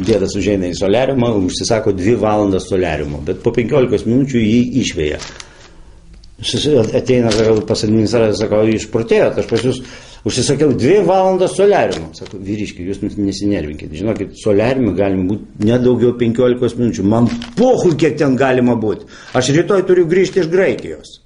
Dėdas užeina į soliariumą, užsisako 2 valandas soliariumo, bet po 15 minučių jį išveja. Ateina pas administraciją, sako, išprotėjot, aš pas jūs užsisakiau 2 valandas soliariumo. Sako, vyriški, jūs nesinervinkit. Žinokit, soliariume galima būti nedaugiau 15 minučių. Man pohui, kiek ten galima būti. Aš rytoj turiu grįžti iš Graikijos.